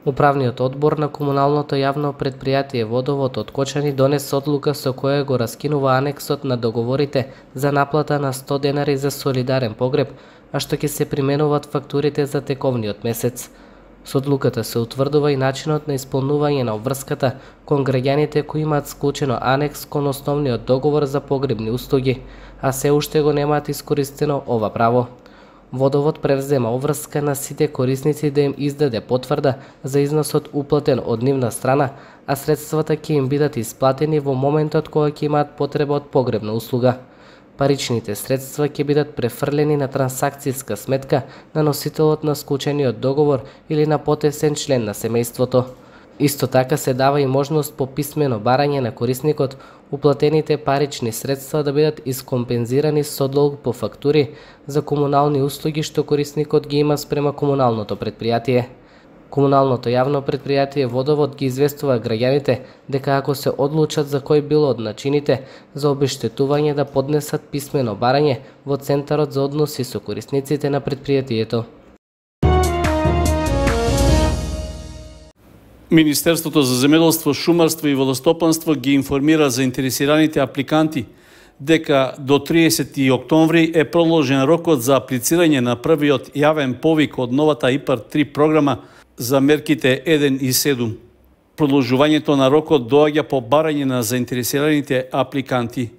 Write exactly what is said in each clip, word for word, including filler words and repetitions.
Управниот одбор на комуналното јавно предпријатие Водовод од Кочани донесе одлука со која го раскинува анексот на договорите за наплата на сто денари за солидарен погреб, а што ќе се применуваат фактурите за тековниот месец. Со одлуката се утврдува и начинот на исполнување на обврската кон граѓаните кои имаат склучено анекс кон основниот договор за погребни услуги, а се уште го немаат искористено ова право. Водовод превзема обврска на сите корисници да им издаде потврда за износот уплатен од нивна страна, а средствата ќе им бидат исплатени во моментот кога ќе имаат потреба од погребна услуга. Паричните средства ќе бидат префрлени на трансакцијска сметка на носителот на склучениот договор или на потесен член на семејството. Исто така се дава и можност по писмено барање на корисникот уплатените парични средства да бидат искомпензирани со долг по фактури за комунални услуги што корисникот ги има спрема комуналното предпријатие. Комуналното јавно предпријатие Водовод ги известува граѓаните дека ако се одлучат за кој било од начините за обештетување да поднесат писмено барање во Центарот за односи со корисниците на предпријатието. Министерството за земјоделство, шумарство и водостопанство ги информира заинтересираните апликанти дека до триесети октомври е продолжен рокот за аплицирање на првиот јавен повик од новата ИПАР три програма за мерките еден и седум. Продолжувањето на рокот доаѓа по барање на заинтересираните апликанти.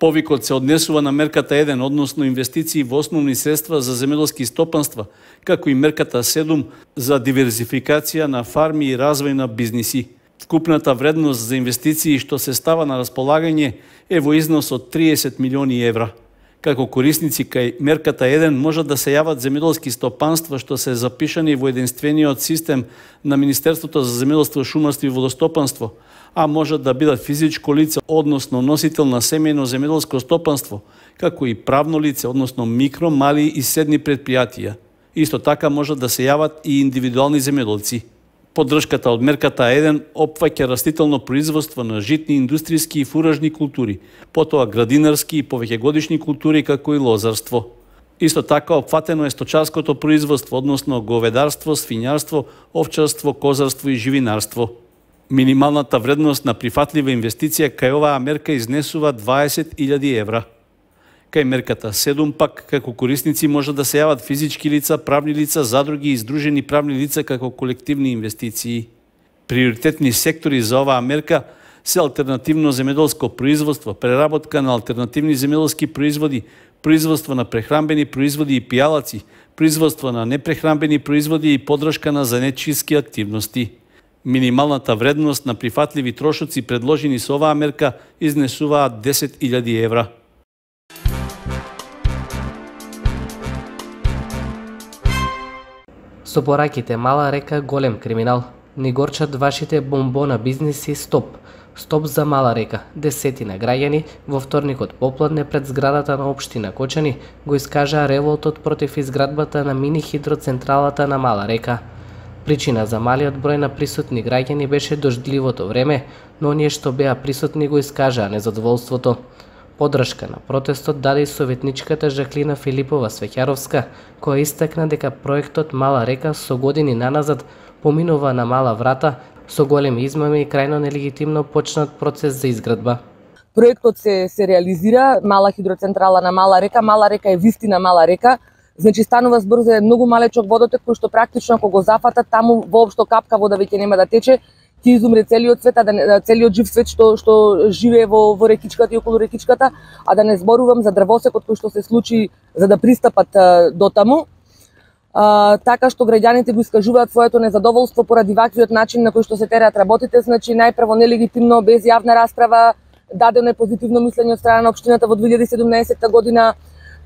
Повикот се однесува на мерката еден, односно инвестиции во основни средства за земјоделски стопанства, како и мерката седум за диверзификација на фарми и развој на бизниси. Вкупната вредност за инвестиции што се става на располагање е во износ од триесет милиони евра. Како корисници кај мерката еден можат да се јават земјоделски стопанства што се запишани во единствениот систем на Министерството за земјоделство, шумарство и водостопанство, а можат да бидат физичко лице, односно носител на семејно земјоделско стопанство, како и правно лице, односно микро, мали и средни предпријатија. Исто така можат да се јават и индивидуални земјоделци. Поддршката од мерката еден опфаќа растително производство на житни, индустријски и фуражни култури, потоа градинарски и повеќегодишни култури како и лозарство. Исто така опфатено е сточарското производство, односно говедарство, свињарство, овчарство, козарство и живинарство. Минималната вредност на прифатлива инвестиција кај оваа мерка изнесува дваесет илјади евра. Кај мерката седум пак, како корисници можат да се јават физички лица, правни лица, задруги и издружени правни лица како колективни инвестиции. Приоритетни сектори за оваа мерка се алтернативно земјоделско производство, преработка на алтернативни земјоделски производи, производство на прехранбени производи и пијалаци, производство на непрехранбени производи и поддршка на занаетчиски активности. Минималната вредност на прифатливи трошоци предложени со оваа мерка изнесуваат десет илјади евра. Со пораките Мала река голем криминал. Ни горчат вашите бомбона бизниси стоп. Стоп за Мала река. Десетина граѓани во вторникот попладне пред зградата на општина Кочани го искажаа револтот против изградбата на мини хидроцентралата на Мала река. Причина за малиот број на присутни граѓани беше дождливото време, но оние што беа присутни го искажаа незадоволството. Поддршка на протестот даде и советничката Жаклина Филипова Свеќаровска, која истакна дека проектот Мала река со години наназад поминува на мала врата, со големи измами и крајно нелегитимно почнат процес за изградба. Проектот се, се реализира, мала хидроцентрала на Мала река, Мала река е вистина мала река, значи станува збор за многу малечок водотек кој што практично ако го зафатат таму воопшто капка вода веќе нема да тече, ќе изумре целиот свет, а да, целиот жив свет што што живее во во рекичката и околу рекичката, а да не зборувам за дрвосекот кој што се случи за да пристапат а, до таму. А, така што граѓаните го искажуваат своето незадоволство поради ваквиот начин на кој што се тераат работите, значи најпрво нелегитимно, без јавна расправа, дадено е позитивно мислење од страна на општината во две илјади и седумнаесетта година.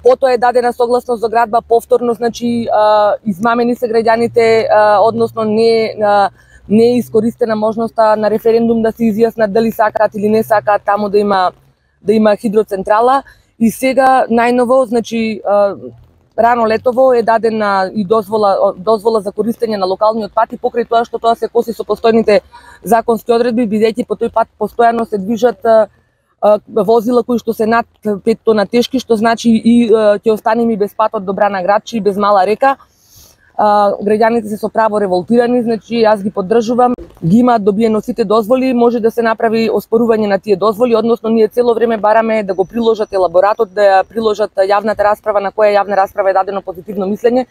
Потоа е дадена согласност за градба повторно, значи а, измамени се граѓаните, а, односно не а, не е искористена можноста на референдум да се изјаснат дали сакаат или не сакаат таму да има да има хидроцентрала. И сега најново, значи а, рано летово е дадена и дозвола дозвола за користење на локалниот пат и покрај тоа што тоа се коси со постојните законски одредби, бидејќи по тој пат постојано се движат а, возила кои што се над пет тона тешки, што значи и ќе останеме без патот до Брана Градче и без Мала река. а, граѓаните се со право револтирани, значи јас ги поддржувам. Ги имаат добиено сите дозволи, може да се направи оспорување на тие дозволи, односно ние цело време бараме да го приложат елаборатот, да ја приложат јавната расправа на која јавна расправа е дадено позитивно мислење,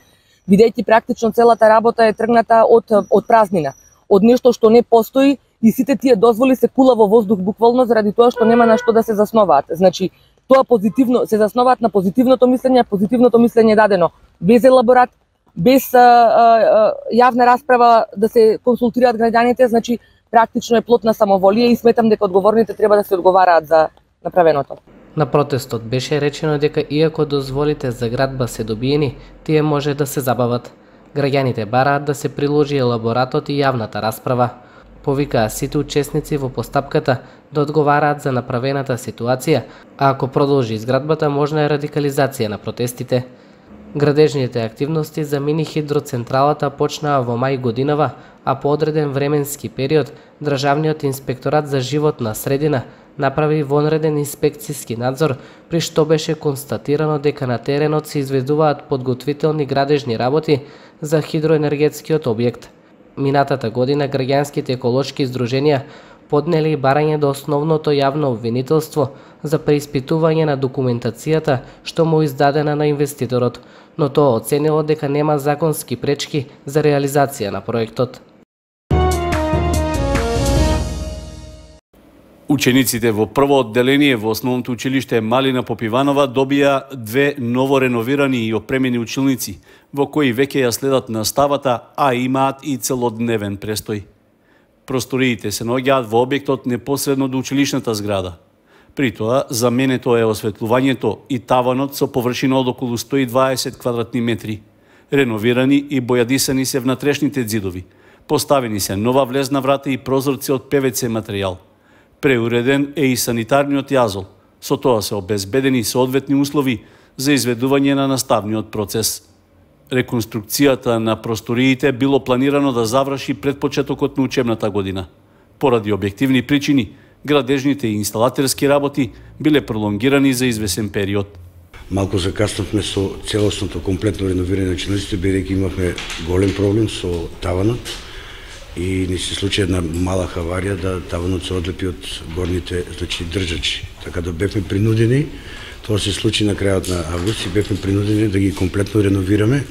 бидејќи практично целата работа е тргната од од празнина, од нешто што не постои и сите тие дозволи се кула во воздух буквално заради тоа што нема на што да се засноваат. Значи, тоа позитивно се засноваат на позитивното мислење, позитивното мислење е дадено без елаборат, без а, а, јавна расправа да се консултираат граѓаните, значи практично е плод на самоволие и сметам дека одговорните треба да се одговараат за направеното. На протестот беше речено дека иако дозволите за градба се добиени, тие може да се забават. Граѓаните бараат да се приложи елаборатот и јавната расправа. Повикаа сите учесници во постапката да одговараат за направената ситуација, а ако продолжи изградбата, можна е радикализација на протестите. Градежните активности за мини хидроцентралата почнаа во мај годинава, а по одреден временски период Државниот инспекторат за животна средина направи вонреден инспекцијски надзор, при што беше констатирано дека на теренот се изведуваат подготвителни градежни работи за хидроенергетскиот објект. Минатата година граѓанските еколошки здруженија поднели барање до основното јавно обвинителство за преиспитување на документацијата што му издадена на инвеститорот, но тоа оценило дека нема законски пречки за реализација на проектот. Учениците во прво одделение во основното училиште Малина Попиванова добија две ново реновирани и опремени училници, во кои веќе ја следат наставата, а имаат и целодневен престој. Просториите се наоѓаат во објектот непосредно до училишната зграда. При тоа, заменето е осветлувањето и таванот со површина од околу сто и дваесет квадратни метри. Реновирани и бојадисани се внатрешните ѕидови. Поставени се нова влезна врата и прозорци од пе ве це материјал. Преуреден е и санитарниот јазол. Со тоа се обезбедени соодветни услови за изведување на наставниот процес. Реконструкцијата на просториите било планирано да заврши пред почетокот на учебната година. Поради објективни причини, градежните и инсталатерски работи биле пролонгирани за извесен период. Малку закаснавме со целосното комплетно реновирање на училниците, бидејќи имавме голем проблем со таванот и ни се случи една мала хаварија да таванот се одлепи од горните, значи држачи. Така да бевме принудени, тоа се случи на крајот на август и бевме принудени да ги комплетно реновираме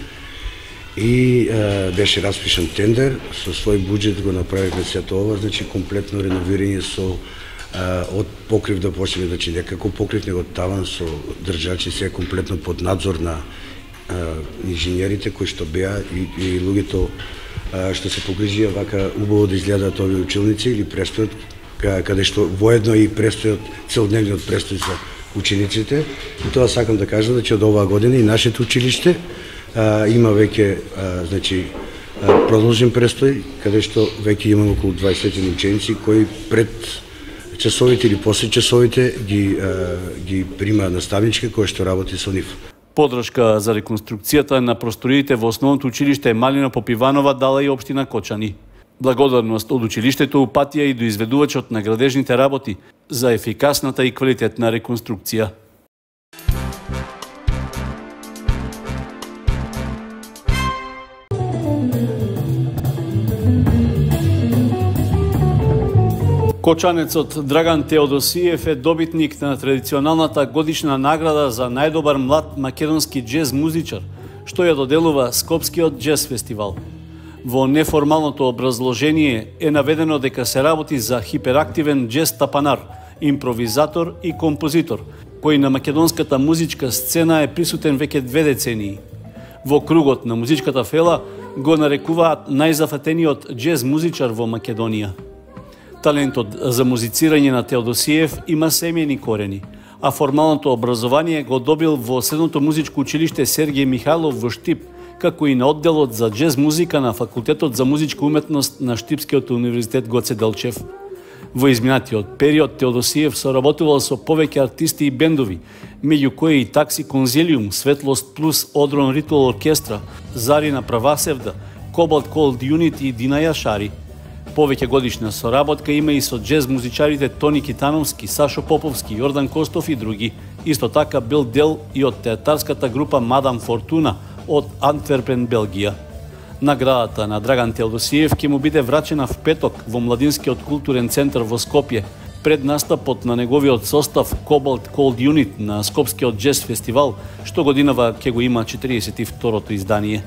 и е, беше распишан тендер, со свој буџет го направивме сето ова, значи комплетно реновирање со е, од покрив да почнеме, значи некако покрив него таван со држачи, се комплетно под надзор на е, инженерите кои што беа и, и луѓето е, што се погрижија вака убаво да изгледаат овие училници или престојот, каде што воедно и престојот, целодневниот престој за учениците. И тоа сакам да кажам, значи од оваа година и нашето училиште а, има веќе а, значи а, продолжен престој, каде што веќе имаме околу дваесет ученици кои пред часовите или после часовите ги а, ги прима наставничка која што работи со нив. Подршка за реконструкцијата на просториите во основното училиште Малина Попиванова дала и општина Кочани. Благодарност од училиштето упатија и до изведувачот на градежните работи за ефикасната и квалитетна реконструкција. Кочанецот Драган Теодосиев е добитник на традиционалната годишна награда за најдобар млад македонски џез музичар, што ја доделува Скопскиот џез фестивал. Во неформалното образложение е наведено дека се работи за хиперактивен џез тапанар, импровизатор и композитор, кој на македонската музичка сцена е присутен веќе две децении. Во кругот на музичката фела го нарекуваат најзафатениот џез музичар во Македонија. Талентот за музицирање на Теодосиев има семејни корени, а формалното образование го добил во Средното музичко училиште Сергеј Михајлов во Штип, како и на одделот за џез музика на Факултетот за музичка уметност на Штипскиот универзитет Гоце Делчев. Во изминатиот период Теодосиев соработувал со повеќе артисти и бендови, меѓу кои и Такси Конзилиум, Светлост Плюс, Одрон Ритуал Оркестра, Зарина Правасевда, Кобалт Колд Юнит и Дина Јашари. Повеќе годишна соработка има и со џез музичарите Тони Китановски, Сашо Поповски, Јордан Костов и други. Исто така бил дел и од театарската група Мадам Фортуна од Антверпен, Белгија. Наградата на Драган Телдосиев ќе му биде врачена в петок во Младинскиот културен центар во Скопје, пред настапот на неговиот состав Cobalt Cold Unit на Скопскиот джез фестивал, што годинава ќе го има четириесет и второто издание.